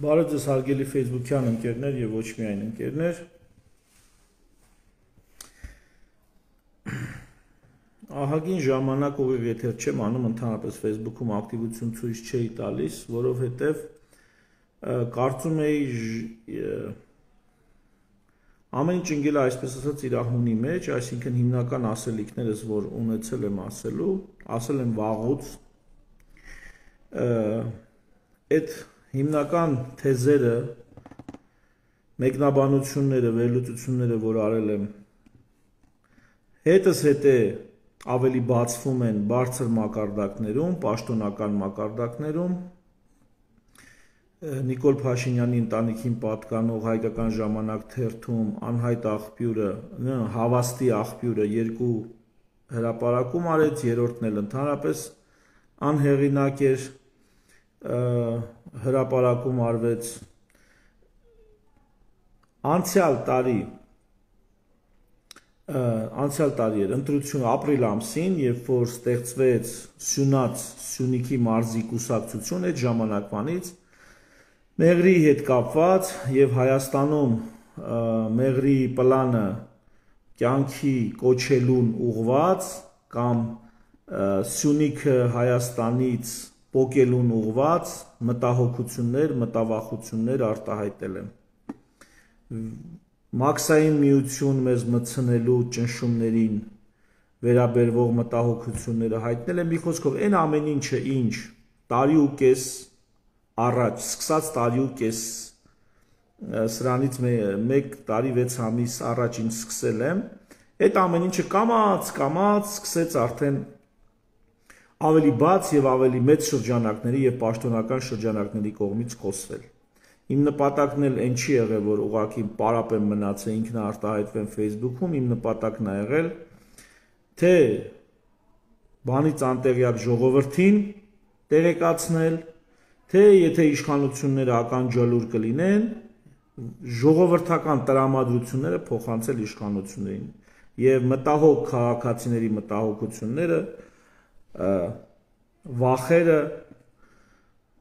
Բարև ձեզ հարգելի Facebook-յան ընկերներ եւ ոչ միայն ընկերներ։ Ահագին ժամանակ ուղիղ եթեր չեմ անում, ընդհանրապես Facebook-ում ակտիվություն ցույց չէի տալիս, որովհետեւ կարծում էի ամեն ինչ ընկել է այսպես ասած իր ահունի մեջ, այսինքն հիմնական ասելիքներս, որ ունեցել եմ ասել եմ վաղուց, այդ հիմնական թեզերը, մեկնաբանությունները, վերլուծությունները, որ արել եմ, հետս հետե ավելի բացվում են բարձր մակարդակներում, պաշտոնական մակարդակներում, Նիկոլ Փաշինյանի ընտանիքին պատկանող Հայկական ժամանակ թերթում անհայտ աղբյուրը, հավաստի աղբյուրը երկու հրապարակում արեց, երրորդն էլ ընդհանրապես անհեղինակ էր, հրապարակում արվեց անցյալ տարի էր ընտրություն ապրիլ ամսին, երբ որ ստեղծվեց Սյունիքի մարզի կուսակցություն, այդ ժամանակվանից Մեղրի հետ կապված եւ Հայաստանում Մեղրի պլանը կյանքի կոչելուն ուղված կամ Սյունիքը Հայաստանից պոկելուն ուղված մտահոգություններ, մտավախություններ արտահայտել եմ։ Մաքսային միություն մեզ մտցնելու ճնշումներին վերաբերող մտահոգությունները հայտնել եմ, մի խոսքով այն ամեն ինչը, ինչ տարի ու կես առաջ, սկսած տարի ու կես սրանից 1 տարի 6 ամիս առաջ ինչ սկսել եմ, այդ ամեն ինչը կամաց սկսեց արդեն ավելի բաց եւ ավելի մեծ շրջանակների եւ պաշտոնական շրջանակների կողմից խոսվել։ Իմ նպատակն էլ այն չի եղել, որ ուղղակի պարապ եմ մնացել, ինքնարտահայտվեմ Facebook-ում, իմ նպատակն է եղել, թե բանից անտեղյակ ժողովրդին տեղեկացնել, թե եթե իշխանությունները ականջալուր կլինեն, ժողովրդական տրամադրությունները փոխանցել իշխանություններին եւ մտահոգ քաղաքացիների մտահոգությունները, վախերը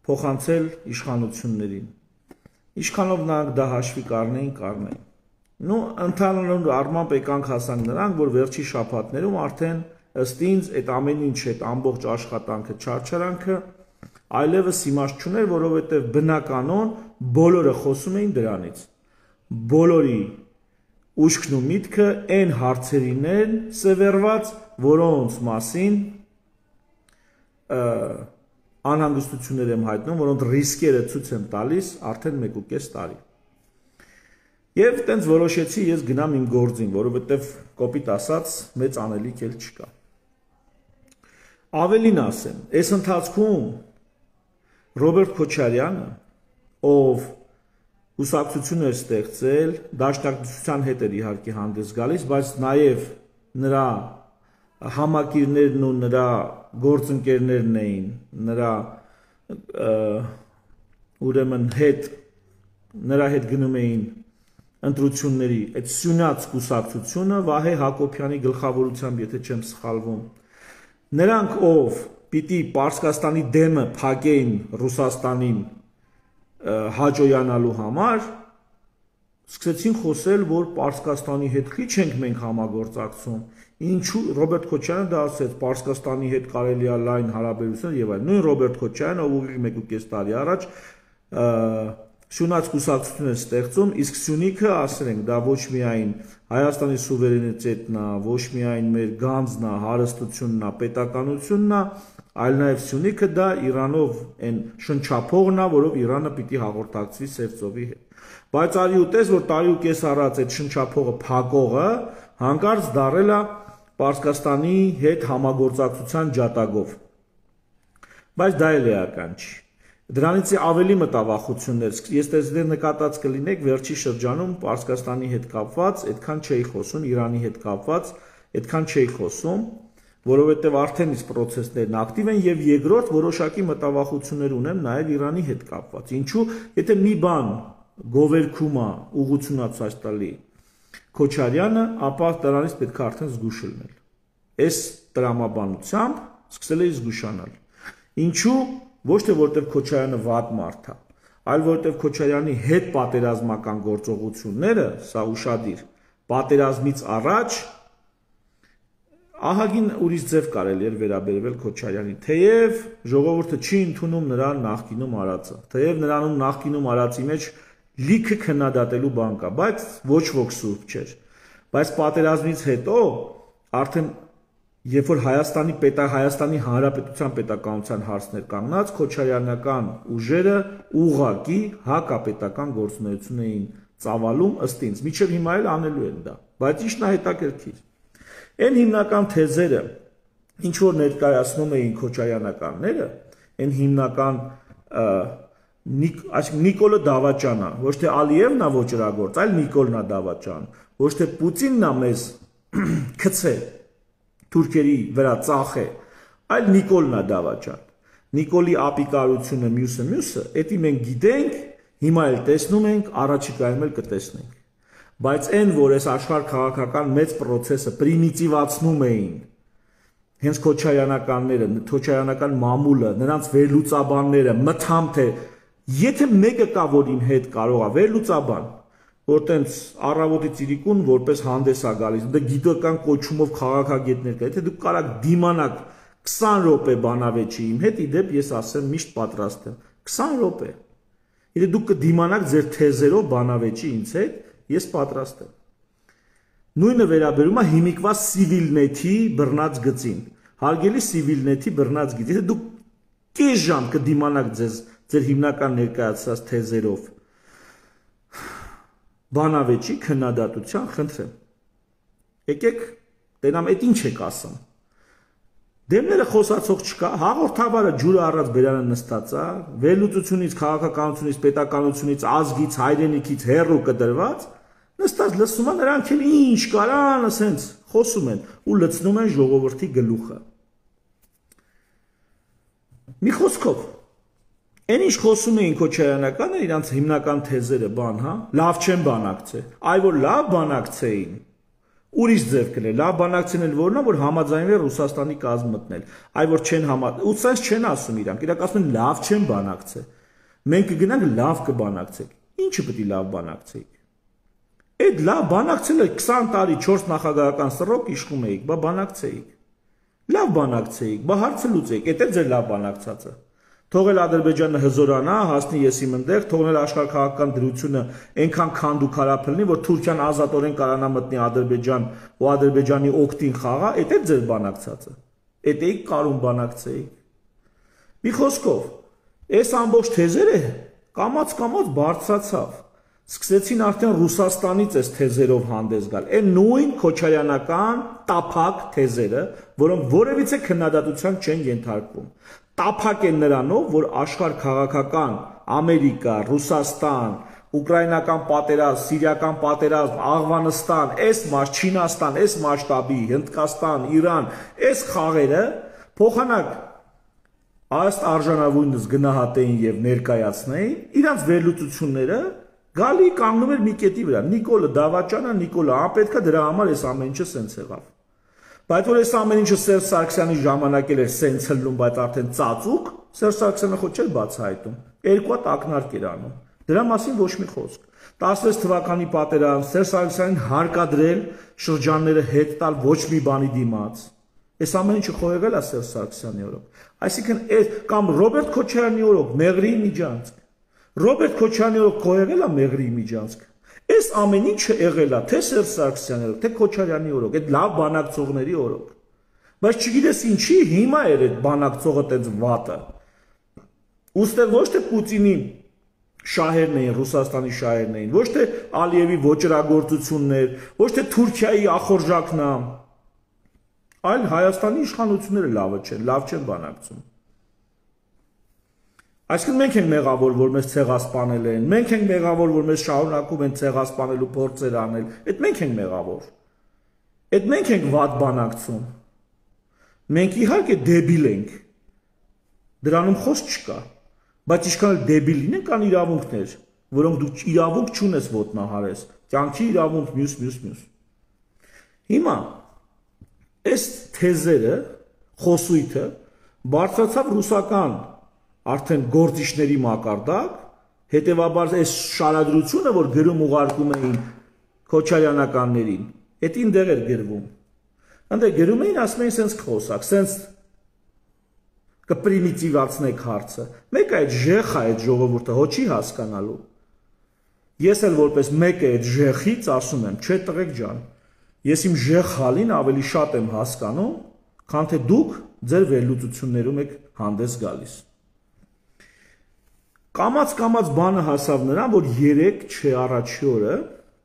փոխանցել իշխանություններին։ Ինչքանով նրանք դա հաշվի կառնեին։ Նու ընդհանուր առմամբ եկանք հասանք նրանք, որ վերջի շաբաթներում արդեն ըստ ինձ այդ ամեն ինչ, այդ ամբողջ աշխատանքը, չարչարանքը այլևս իմաստ չուներ, որովհետև բնականon բոլորը խոսում էին դրանից։ Բոլորի ուշքն ու միտքը այն հարցերին են սևեռված, որոնց մասին անհանգստություններ եմ հայտնում, որոնց ռիսկերը ցույց եմ տալիս արդեն 1.5 տարի։ Եվ տենց որոշեցի ես գնամ իմ գործին, որովհետև կոպիտ ասած մեծ անելիք էլ չկա։ Ավելին ասեմ, այս ընթացքում Ռոբերտ Քոչարյանը, ով կուսակցություն էր ստեղծել, դաշնակցության հետ էր իհարկե հանդես գալիս, բայց նաև նրա համակիրներն ու նրա գործընկերներն էին, նրա ուրեմն նրա հետ գնում էին ընտրությունների այդ Սյունյաց կուսակցությունը Վահե Հակոբյանի գլխավորությամբ, եթե չեմ սխալվում, նրանք ով պիտի Պարսկաստանի դեմը փակեին Ռուսաստանին հաջողանալու համար, սկսեցին խոսել, որ Պարսկաստանի հետ քիչ ենք մենք համագործակցում, ինչու Ռոբերտ Քոչարյանը դա ասեց, Պարսկաստանի հետ կարելի է լայն հարաբերություն եւ այլն։ Նույն Ռոբերտ Քոչարյանը, ով ուղիղ 1.5 տարի առաջ Սյունյաց կուսակցություն է ստեղծում, իսկ Սյունիքը, ասել ենք, դա ոչ միայն Հայաստանի սուվերենիտետն է, ոչ միայն մեր գանձն է, հարստությունն է, պետականությունն է, այլ նաև Սյունիքը դա Իրանով այն շնչափողն է, որով Իրանը պիտի հաղորդակցվի Սև ծովի հետ։ Բայց արի ու տես, որ տարի ու կես առաջ այդ շնչափողը փակողը հանկարծ դարել է Պարսկաստանի հետ համագործակցության ջատագով։ Բայց դա էլ էական չի։ Դրանից ավելի մտավախություններ, ես տեսել նկատած կլինեք վերջի շրջանում Պարսկաստանի հետ կապված, այդքան չէի խոսում, Իրանի հետ կապված, այդքան չէի խոսում, որովհետև արդեն իսկ process-ներն ակտիվ են եւ երկրորդ որոշակի մտավախություններ ունեմ նաեւ Իրանի հետ կապված։ Ինչու, եթե մի բան գովերքում է, ուղղությունացած տալի Քոչարյանը, ապա դրանից պետք է արդեն զգուշ լինել։ Այս տրամաբանությամբ սկսել էի զգուշանալ։ Ինչու, ոչ թե որտեղ Քոչարյանը վատ մարդ է, այլ որովհետև Քոչարյանի հետ պատերազմական գործողությունները, սա ուշադիր, պատերազմից առաջ ահագին ուրիշ ձև կարելի էր վերաբերվել Քոչարյանի, թեև ժողովուրդը չի ընդունում նրան նախկինում արածը, թեև նրանում նախկինում արածի մեջ լիքը քննադատելու բան կա, բայց ոչ ոք սուրբ չէր, բայց պատերազմից հետո արդեն երբ որ Հայաստանի Հանրապետության պետականության հարցներ կանգնած, քոչարյանական ուժերը ուղղակի հակապետական գործունեություն էին ծավալում ըստ ինձ, մինչև հիմա էլ անելու են դա, բայց ինչն է հետաքրքիր։ Այն հիմնական թեզերը, ինչ որ ներկայացնում էին քոչարյանականները, այն հիմնական Նիկոլը Դավաճանն է, ոչ թե Ալիևն է ոճրագործ, այլ Նիկոլն է Դավաճան, ոչ թե Պուտինն է մեզ գցե թուրքերի վրա ծախե, այլ Նիկոլն է Դավաճան։ Նիկոլի ապիկարությունը մյուսը, էդի մենք գիտենք, հիմա էլ տեսնում ենք, առաջիկայում էլ կտեսնենք։ Բայց այն, որ այս աշխարհ քաղաքական մեծ process-ը պրիմիտիվացնում էին հենց քոչարյանականները, քոչարյանական մամուլը, նրանց վերլուծաբանները, մթամ թե եթե մեկը կա, որ իմ հետ կարող է վերլուծաբան, որ տենց առավոտից իրիկուն որպես հանդես է գալիս, դա գիտական կոչումով քաղաքագետներ կա, եթե դուք կարաք դիմանաք 20 րոպե բանավեճի իմ հետ, իդեպ ես ասեմ միշտ պատրաստ եմ, 20 րոպե, եթե դուք կդիմանաք ձեր թեզերով բանավեճի ինձ հետ, ես պատրաստ եմ։ Նույնը վերաբերում է հիմիկվա Civilnet-ի բռնած գծին, հարգելի Civilnet-ի բռնած գիծ, եթե դուք կես ժամ կդիմանաք ձեր հիմնական ներկայացած թեզերով բանավեճի քննադատության, խնդրեմ։ Եկեք, տենամ, այդ ինչ եք ասում։ Դեմները խոսացող չկա, հաղորդավարը ջուրը առած բերանը նստած է, վերլուծությունից, քաղաքականությունից, պետականությունից, ազգից, հայրենիքից հեռու կդրված, նստած լսում են, նրանք էլ ինչ կարան, ասենց խոսում են ու լցնում են ժողովրդի գլուխը։ Մի խոսքով, այն ինչ խոսում էին քոչարյանականը, իրանց հիմնական թեզերը բան, հա, լավ չեն բանակցել, այ որ լավ բանակցեին, ուրիշ ձև կլեր, լավ բանակցեն էլ որն է, որ համաձայնվել Ռուսաստանի կազմ մտնել, այ որ չեն ու սենց չեն ասում իրանք, իրանք ասում են լավ չեն բանակցել, մենք կգնանք լավ կբանակցենք, ինչը պետք է լավ բանակցեիք։ Այդ լավ բանակցելը 20 տարի 4 նախագահական սռոք իշխում էիք, բա բանակցեիք։ Լավ բանակցեիք, բա հարցը լուծեիք, էդ է ձեր լավ բանակցածը։ Թողել Ադրբեջանը հզորանա, հասնի եսիմ ընդեղ, թողնել աշխարհքաղաքական դրությունը այնքան քանդ ու քարափլնի, որ Թուրքիան ազատորեն կարանա մտնի Ադրբեջան ու Ադրբեջանի օգտին խաղա, էդ է ձեր բանակցածը։ Էդ էիք կարում բանակցեիք։ Մի խոսքով, այս ամբողջ թեզերը կամաց բարձրացավ։ Սկսեցին արդեն Ռուսաստանից այս թեզերով հանդես գալ։ Այն նույն քոչարյանական տափակ թեզերը, որոնք որևիցե քննադատության չեն ենթարկվում։ Տափակ են նրանով, որ աշխարհ քաղաքական Ամերիկա, Ռուսաստան, ուկրաինական պատերազմ, սիրիական պատերազմ, Աղվանստան, Չինաստան, այս մասշտաբի, Հնդկաստան, Իրան, այս խաղերը փոխանակ ըստ արժանավույնս գնահատեին եւ ներկայացնեին, իրանց վերլուծությունները գալի կանգնում էր մի կետի վրա, Նիկոլը Դավաճանը, Նիկոլը անպետք է դրա համար այս ամեն ինչը սենց եղավ։ Բայց որ այս ամեն ինչը Սերժ Սարգսյանի ժամանակ էր սենց հլնում, բայց արդեն ծածուկ, Սերժ Սարգսյանը ոչ էլ բացահայտում, երկու հատ ակնարկ էր անում։ Դրա մասին ոչ մի խոսք։ 16 թվականի պատերազմ, Սերժ Սարգսյանին հարկադրել շրջանները հետ տալ ոչ մի բանի դիմաց։ Այս ամեն ինչը խոհեղել է Սերժ Սարգսյանի օրոք։ Այսինքն կամ Ռոբերտ Քոչարյանի օրոք Մեղրիի միջանցք, Ռոբերտ Քոչարյանի օրոք խոհեղել է Մեղրիի միջանցք։ Այս ամեն ինչը եղել է թե Սերժ Սարգսյանի օրոք, թե Քոչարյանի օրոք, այդ լավ բանակցողների օրոք։ Բայց չգիտես ինչի հիմա էր այդ բանակցողը տենց վատը։ Ոստեղ ոչ թե Պուտինի շահերն էին, Ռուսաստանի շահերն էին, ոչ թե Ալիևի ոճրագործություններ, ոչ թե Թուրքիայի ախորժակն է, այլ Հայաստանի իշխանությունները լավ չեն բանակցում։ Այսինքն մենք ենք մեղավոր, որ մեզ ցեղասպանել են, մենք ենք մեղավոր, որ մեզ շարունակում են ցեղասպանելու փորձեր անել, այդ մենք ենք մեղավոր։ Այդ մենք ենք վատ բանակցում։ Մենք իհարկե դեբիլ ենք։ Դրանում խոսք չկա, բայց ինչքան էլ դեբիլ լինեն, կան իրավունքներ, որոնք դու իրավունք չունես ոտնահարես, կյանքի իրավունք մյուս։ Հիմա այս թեզերը, խոսույթը բարձրացավ ռուսական արդեն գործիչների մակարդակ, Հետևաբար այս շարադրությունը, որ գրում ուղարկում էին Քոչարյանականներին, էդին դեղ էր գրվում։ Այնտեղ գրում էին, ասում էին սենց խոսակ, սենց կպրիմիտիվացնեք հարցը։ Մեկ այդ ժեխա այդ ժողովուրդը հո չի հասկանալու։ Ես էլ որպես մեկ է այդ ժեխից ասում եմ, չէ տղեկ ջան, ես իմ ժեխալին ավելի շատ եմ հասկանում, քան թե դուք ձեր վերլուծություններում եք հանդես գալիս։ Կամաց բանը հասավ նրան, որ 3 չէ առաջի օրը,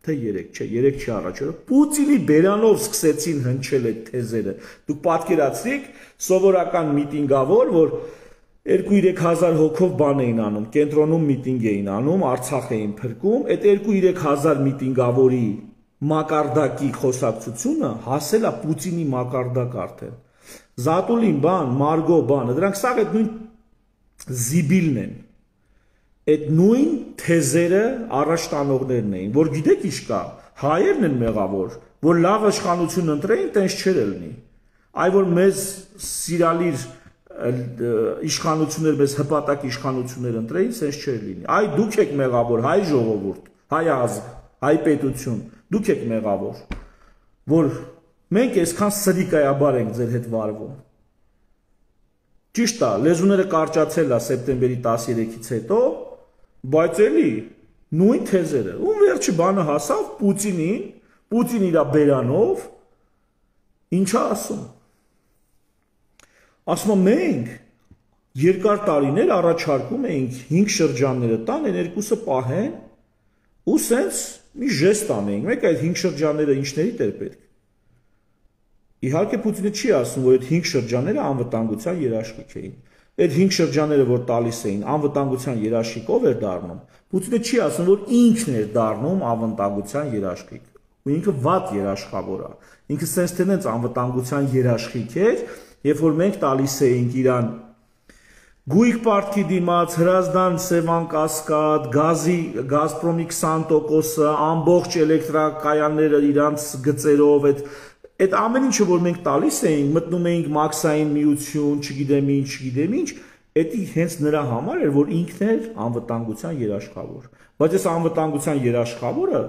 թե 3 չէ առաջի օրը, Պուտինի բերանով սկսեցին հնչել այդ թեզերը։ Դուք պատկերացրիք սովորական միտինգավոր, որ 2-3 հազար հոգով բան էին անում, կենտրոնում միտինգ էին անում, Արցախ էին փրկում, այդ 2-3 հազար միտինգավորի մակարդակի խոսակցությունը հասել է Պուտինի մակարդակ արդեն։ Զատուլին բան, Մարգո բանը, դրանք սաղ այդ նույն զիբիլն են։ Այդ նույն թեզերը առաջ տանողներն էին, որ գիտեք ինչ կա, հայերն են մեղավոր, որ լավ իշխանություն ընտրեին, տենց չէր լինի։ Այ որ մեզ սիրալիր իշխանություններ, մեզ հպատակ իշխանություններ ընտրեին, սենց չէր լինի։ Այ դուք եք մեղավոր, հայ ժողովուրդ, հայ ազգ, հայ պետություն, դուք եք մեղավոր, որ մենք այսքան սրիկայաբար ենք ձեր հետ վարվում։ Ճիշտ է, լեզուները կարճացել է սեպտեմբերի 13-ից հետո, բայց էլի նույն թեզերը, ում վերջի բանը հասավ Պուտինին, Պուտին իր բերանով, ինչա ասում։ Ասում մենք երկար տարիներ առաջարկում էինք 5 շրջանները տան, այն երկուսը պահեն ու սենց մի ժեստ անեինք, մեկ այդ 5 շրջանները ինչների էր պետք։ Իհարկե Պուտինը չի ասում, որ այդ 5 շրջանները անվտանգության երաշխիք էին։ Այդ 5 շրջանները, որ տալիս էին, անվտանգության երաշխիքով էր դառնում։ Պուտինը չի ասում, որ ինքն էր դառնում անվտանգության երաշխիք։ Ու ինքը վատ երաշխավոր է։ Ինքը սենց թե նենց անվտանգության երաշխիք էր, երբ որ մենք տալիս էինք իրան գույք պարտքի դիմաց, Հրազդան, Սևան Կասկադ, Գազպրոմի 20%-ը, ամբողջ էլեկտրակայանները իրանց գծերով, այդ ամեն ինչը, որ մենք տալիս էինք, մտնում էինք մաքսային միություն, չգիտեմ ինչ, էդի հենց նրա համար էր, որ ինքն էր անվտանգության երաշխավոր։ Բայց այս անվտանգության երաշխավորը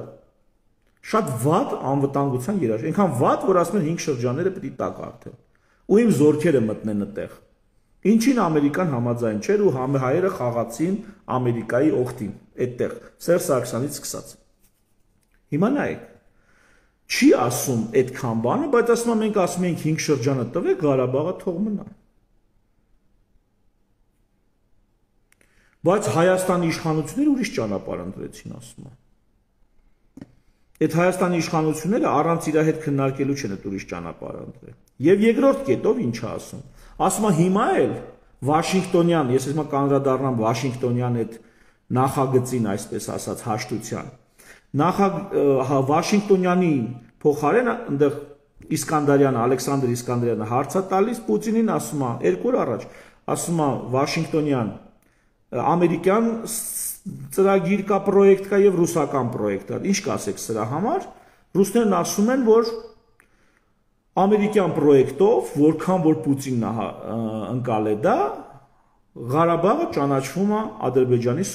շատ վատ անվտանգության երաշխավոր, այնքան վատ, որ ասում են 5 շրջանները պետք է տակ արդեն։ Ու իմ զորքերը մտնեն այդտեղ։ Ինչին ամերիկան համաձայն չէր ու հայերը խաղացին Ամերիկայի օգտին, այդտեղ, Սերժ Սարգսյանից սկսած։ Հիմա նայեք, չի ասում այդքան բանը, բայց ասում են մենք ասում ենք 5 շրջանը տվեք, Ղարաբաղը թող մնա։ Բայց Հայաստանի իշխանությունները ուրիշ ճանապարհ ընտրեցին, ասում են։ Այդ Հայաստանի իշխանությունները առանց իր հետ քննարկելու չեն այդ ուրիշ ճանապարհ ընտրել։ Եվ երկրորդ կետով ինչ է ասում։ Ասում է հիմա էլ Վաշինգտոնյան, ես հիմա կանդրադառնամ Վաշինգտոնյան այդ նախագծին, այսպես ասած, հաշտության։ Վաշինգտոնյանի փոխարեն այնտեղ Իսկանդարյանը, Ալեքսանդր Իսկանդարյանը հարց է տալիս Պուտինին, ասում է 2 օր առաջ, ասում է Վաշինգտոնյան ամերիկյան ծրագիր կա, պրոյեկտ կա եւ ռուսական պրոյեկտ կա։ Ինչ կասեք սրա համար։ Ռուսներն ասում են, որ ամերիկյան պրոյեկտով, որքան որ Պուտինն ընկալ է դա, Ղարաբաղը ճանաչվում է Ադրբեջանի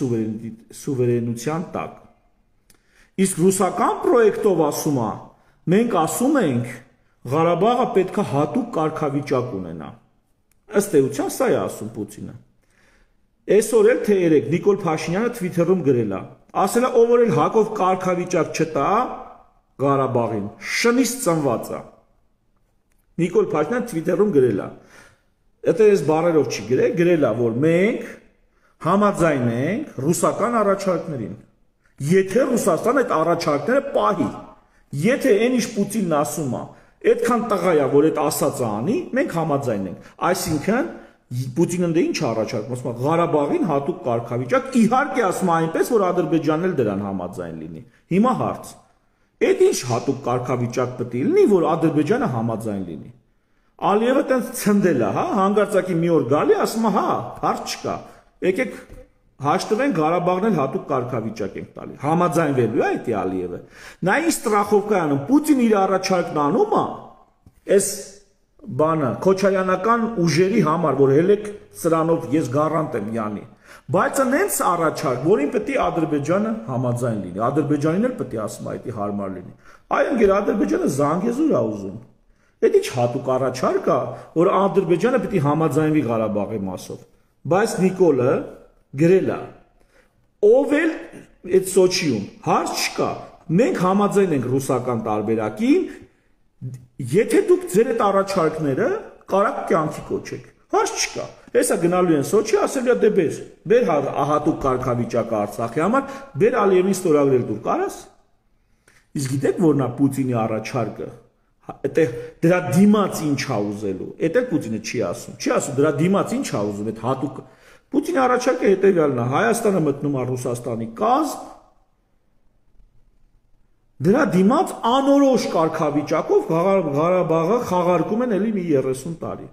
սուվերենության տակ։ Իսկ ռուսական պրոյեկտով ասում է, մենք ասում ենք Ղարաբաղը պետք է հատուկ կարգավիճակ ունենա։ Ըստ էության սա է ասում Պուտինը։ Այսօր էլ թե երեք Նիկոլ Փաշինյանը Twitter-ում գրել է, ասել է ով որ էլ Հակով կարգավիճակ չտա Ղարաբաղին, շնից ծնված է։ Նիկոլ Փաշինյանը Twitter-ում գրել է։ Դա ես բառերով չի գրել, գրել է, որ մենք համաձայն ենք ռուսական առաջարկներին։ Եթե Ռուսաստանը այդ առաջարկները պահի, եթե այն ինչ Պուտինն ասում է, այդքան տղա է, որ այդ ասածը անի, մենք համաձայն ենք։ Այսինքն Պուտինը դե ինչ առաջարկում, ասում է Ղարաբաղին հատուկ կարգավիճակ, իհարկե ասում է այնպես, որ Ադրբեջանն էլ դրան համաձայն լինի։ Հիմա հարց. այդ ինչ հատուկ կարգավիճակ պետք է լինի, որ Ադրբեջանը համաձայն լինի։ Ալիևը տենց ցնդել է, հա, հանգարցակի մի օր գալի, ասում է, հա, հարց չկա։ Եկեք հաշտվենք Ղարաբաղն էլ հատուկ կարգավիճակ ենք տալի։ Համաձայնվելու է այդ Ալիևը։ Նա ինչ ստրախովկա անում, Պուտինը իր առաջարկն անում է, այս բանը Քոչարյանական ուժերի համար, որ հելեք սրանով ես գարանտ եմ յանի։ Բայց նենց առաջարկ, որին պետք է Ադրբեջանը համաձայն լինի, Ադրբեջանին էլ պետք է ասում այդ հարմար լինի։ Այ ընկեր Ադրբեջանը Զանգեզուր է ուզում։ Դա ինչ հատուկ առաջարկ է, որ Ադրբեջանը պետք է համաձայնվի Ղարաբաղի մասով։ Բայց Նիկոլը գրել է. ով էլ այդ Սոչիում հարց չկա, մենք համաձայն ենք ռուսական տարբերակին, եթե դուք ձեր այդ առաջարկները կարաք կյանքի կոչեք, հարց չկա։ Հեսա գնալու են Սոչի, ասել է դե բեր հատուկ կարգավիճակը Արցախի համար, բեր Ալիևին ստորագրել դուր կարաս։ Իսկ գիտեք որն է Պուտինի առաջարկը։ Դրա դիմաց ինչ է ուզելու։ Էդ էլ Պուտինը չի ասում։ Չի ասում դրա դիմաց ինչ է ուզում, այդ հատուկ Պուտինի առաջարկը հետևյալն է. Հայաստանը մտնում է Ռուսաստանի կազմ, դրա դիմաց անորոշ կարգավիճակով Ղարաբաղը խաղարկում են էլի մի 30 տարի։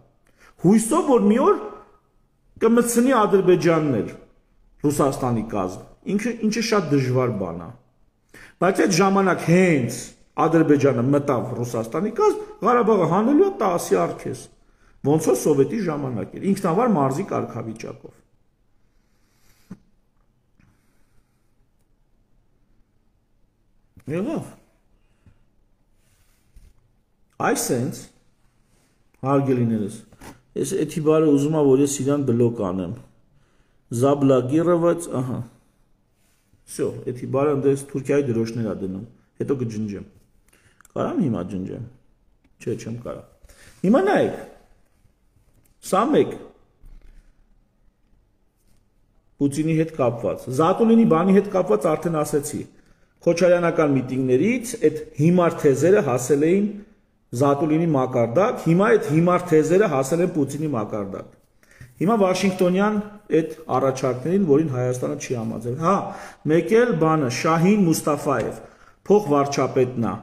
Հույսով որ մի օր կմտցնի Ադրբեջանն էլ Ռուսաստանի կազմ։ Ինչը շատ դժվար բան է։ Բայց այդ ժամանակ հենց Ադրբեջանը մտավ Ռուսաստանի կազմ, Ղարաբաղը հանելու է 10-ի արքես։ Ոնց որ սովետի ժամանակ էր, ինքնավար մարզի կարգավիճակով։ Եղավ։ Այսենց հարգելիներս, ես էթիբարը ուզում եմ, որ ես իրան բլոկ անեմ։ Զաբլագիրովաց, ահա։ Всё, էթիբարը ընդես Թուրքիայի դրոշներ է դնում, հետո կջնջեմ։ Կարամ հիմա ջնջեմ։ Չէ, չեմ կարա։ Հիմա նայեք։ Սա մեկ Պուտինի հետ կապված, Զատուլինի բանի հետ կապված արդեն ասեցի։ Քոչարյանական միտինգներից այդ հիմար թեզերը հասել էին Զատուլինի մակարդակ, հիմա այդ հիմար թեզերը հասել են Պուտինի մակարդակ։ Հիմա Վաշինգտոնյան այդ առաջարկներին, որին Հայաստանը չի համաձայն։ Հա, մեկ էլ բանը Շահին Մուստաֆաև, փոխվարչապետն է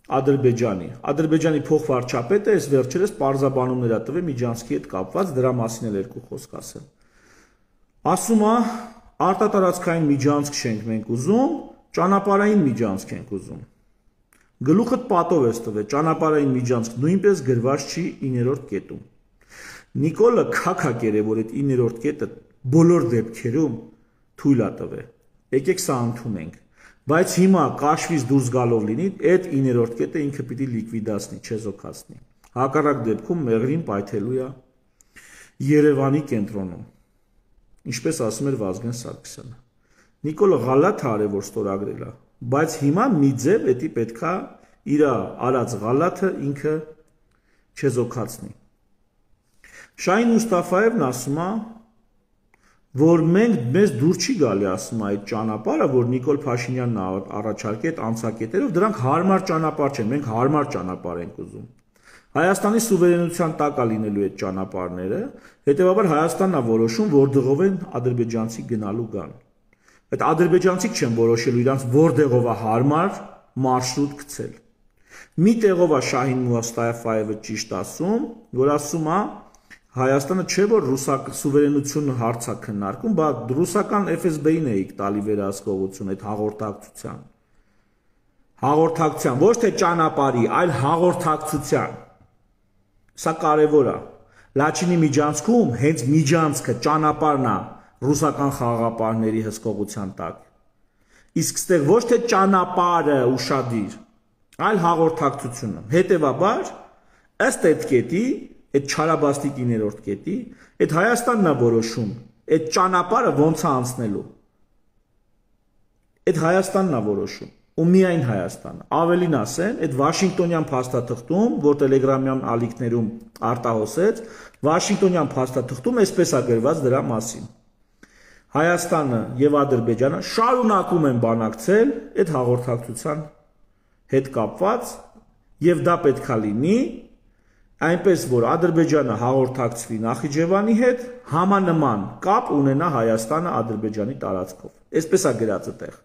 Ադրբեջանի փոխվարչապետը այս վերջերս պարզաբանումներ է տվել Միջանցքի հետ կապված, դրա մասին էլ երկու խոսք ասեմ։ Ասում է, արտատարածքային Միջանցք չենք մենք ուզում, ճանապարհային Միջանցք ենք ուզում։ Գլուխդ պատով ես տվել, ճանապարհային Միջանցք նույնպես գրված չի 9-րդ կետում։ Նիկոլը քաքակ էր, որ այդ 9-րդ կետը բոլոր դեպքերում թույլ է տվել։ Եկեք սա ընդունենք։ Բայց հիմա կաշվից դուրս գալով լինի, այդ 9-րդ կետը ինքը պիտի լիկվիդացնի, չեզոքացնի։ Հակառակ դեպքում մեղրին պայթելու է Երևանի կենտրոնում։ Ինչպես ասում էր Վազգեն Սարգսյանը։ Նիկոլը ղալաթ է արել, որ ստորագրել է, բայց հիմա մի ձև էդի պետքա իր արած ղալաթը ինքը չեզոքացնի։ Շահին Մուստաֆաևն ասում է, որ մենք մեզ դուր չի գալի, ասում այդ ճանապարհը, որ Նիկոլ Փաշինյանն առաջարկի այդ անցակետերով, դրանք հարմար ճանապարհ չեն, մենք հարմար ճանապարհ ենք ուզում։ Հայաստանի սուվերենության տակ է լինելու այդ ճանապարհները, հետեւաբար Հայաստանն է որոշում, որ դղով են ադրբեջանցի գնալու գան։ Այդ ադրբեջանցիք չեն որոշելու իրանց որտեղով է հարմար մարշրուտ գցել։ Մի տեղով է Շահին Մուստաֆաևը ճիշտ ասում, որ ասում է Հայաստանը չէ որ ռուսական սուվերենությունը հարց է քննարկում, բայց ռուսական FSB-ին էիք տալի վերահսկողություն այդ հաղորդակցության։ Հաղորդակցության, ոչ թե ճանապարհի, այլ հաղորդակցության։ Սա կարևոր է։ Լաչինի Միջանցքում հենց Միջանցքը ճանապարհն է ռուսական խաղաղապահների հսկողության տակ։ Իսկ ստեղ ոչ թե ճանապարհը ուշադիր, այլ հաղորդակցությունը։ Հետևաբար, ըստ այդ կետի այդ չարաբաստիկ 9-րդ կետի, այդ Հայաստանն է որոշում, այդ ճանապարհը ոնց է անցնելու։ Այդ Հայաստանն է որոշում, ու միայն Հայաստանը։ Ավելին ասեմ, այդ Վաշինգտոնյան փաստաթղթում, որ տելեգրամյան ալիքներում արտահոսեց, Վաշինգտոնյան փաստաթղթում այսպես է գրված դրա մասին։ Հայաստանը եւ Ադրբեջանը շարունակում են բանակցել այդ հաղորդակցության հետ կապված, եւ դա պետքա լինի այնպես որ Ադրբեջանը հաղորդակցվի Նախիջևանի հետ, համանման կապ ունենա Հայաստանը Ադրբեջանի տարածքով։ Այսպես է գրած այդտեղ։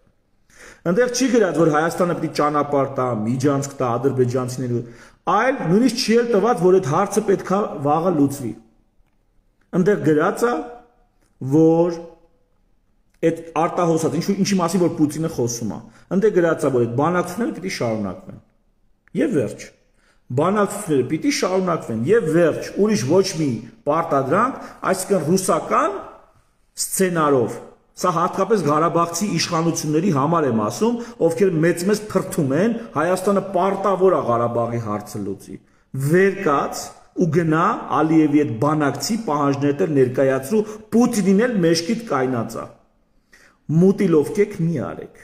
Այնտեղ չի գրած, որ Հայաստանը պիտի ճանապարհ տա, Միջանցք տա ադրբեջանցիներին, այլ նույնիսկ չի էլ տված, որ այդ հարցը պետքա վաղը լուծվի։ Այնտեղ գրած է, որ այդ արտահոսած, ինչի մասին որ Պուտինը խոսում է, այնտեղ գրած է, որ այդ բանակցությունները պիտի շարունակվեն։ Եվ վերջ։ Բանակցությունները պիտի շարունակվեն եւ վերջ, ուրիշ ոչ մի պարտադրանք, այսինքն ռուսական սցենարով։ Սա հատկապես Ղարաբաղցի իշխանությունների համար եմ ասում, ովքեր մեծ փրթում են Հայաստանը պարտավոր է Ղարաբաղի հարցը լուծի։ Վեր կաց ու գնա Ալիևի այդ բանակցի պահանջներն էլ ներկայացրու, Պուտինին էլ մեջքիդ կայնած է։ Մուտիլովկեք մի արեք։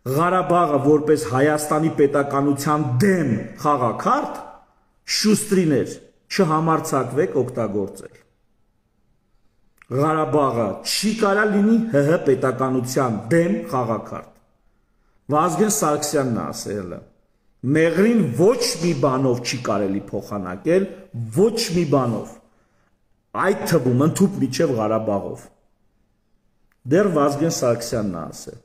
Ղարաբաղը որպես Հայաստանի պետականության դեմ խաղաքարտ շուստրիներ չհամարձակվեք օգտագործել։ Ղարաբաղը չի կարա լինի ՀՀ պետականության դեմ խաղաքարտ։ Վազգեն Սարգսյանն է ասել, մեղրին ոչ մի բանով չի կարելի փոխանակել, ոչ մի բանով, այդ թվում ընդհուպ միջև Ղարաբաղով։ Դեռ Վազգեն Սարգսյանն է ասել։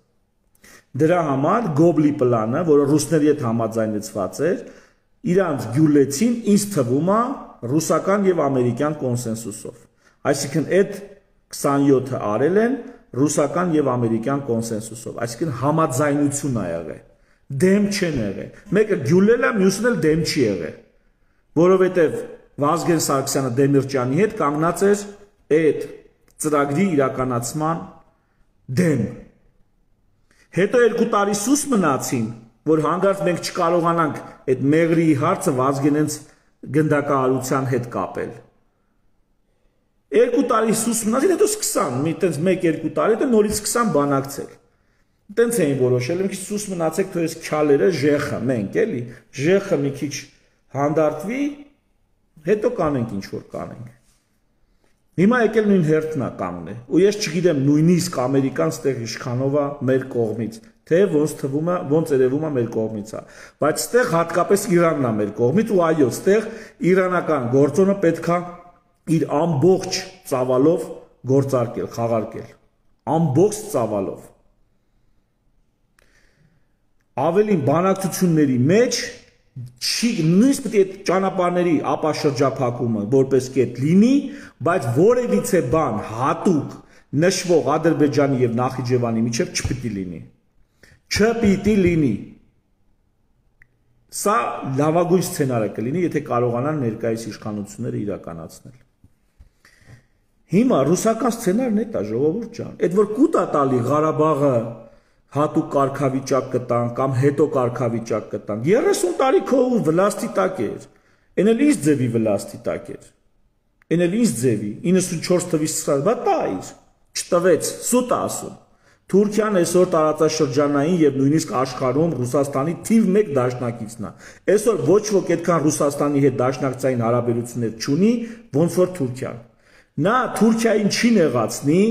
Դրա համար Գոբլի պլանը, որը ռուսների հետ համաձայնեցված էր, իրանց գյուլեցին ինձ թվում է ռուսական եւ ամերիկյան կոնսենսուսով։ Այսինքն այդ 27-ը արել են ռուսական եւ ամերիկյան կոնսենսուսով, այսինքն համաձայնություն ա եղել, դեմ չեն եղել, մեկը գյուլել է, մյուսն էլ դեմ չի եղել, որովհետեւ Վազգեն Սարգսյանը Դեմիրճյանի հետ կանգնած էր այդ ծրագրի իրականացման դեմ։ Հետո 2 տարի սուս մնացին, որ հանգարց մենք չկարողանանք այդ մեղրի հարցը Վազգենենց գնդակահարության հետ կապել։ 2 տարի սուս մնացին, հետո սկսան, մի տենց 1-2 տարի, հետո նորից սկսան բանակցել։ Տենց էին որոշել, մի քիչ սուս մնացեք, թող այս քյալերը ժեխը, մենք էլի, ժեխը մի քիչ հանդարտվի, հետո կանենք ինչ որ կանենք։ Հիմա եկել նույն հերթն է կանգնել, ու ես չգիտեմ նույնիսկ ամերիկան ստեղ իշխանով է մեր կողմից, թե ոնց թվում է, ոնց երևում է մեր կողմից է, բայց ստեղ հատկապես Իրանն է մեր կողմից ու այո, ստեղ իրանական գործոնը պետք է իր ամբողջ ծավալով գործարկել, խաղարկել, ամբողջ ծավալով։ Ավելին բանակցությունների մեջ նույնիսկ պետք է ճանապարհների ապաշրջափակումը որպես կետ լինի, բայց որևիցե բան հատուկ նշվող Ադրբեջանի եւ Նախիջևանի միջև չպիտի լինի։ Չպիտի լինի։ Սա լավագույն սցենարը կլինի, եթե կարողանան ներկայիս իշխանությունները իրականացնել։ Հիմա ռուսական սցենարն է դա ժողովուրդ ջան, այդ որ կուտա տալի Ղարաբաղը հատուկ կարգավիճակ կտան կամ հետո կարգավիճակ կտան 30 տարի քո վլաստի տակ էր, այն էլ ինչ ձևի վլաստի տակ էր, այն էլ ինչ ձևի 94 թվականից սկսած, բա տա իր, չտվեց, սուտ ասում։ Թուրքիան այսօր տարածաշրջանային եւ նույնիսկ աշխարհում Ռուսաստանի թիվ 1 դաշնակիցն է։ Այսօր ոչ ոք այդքան Ռուսաստանի հետ դաշնակցային հարաբերություններ չունի, ոնց որ Թուրքիան։ Նա Թուրքիային չի նեղացնի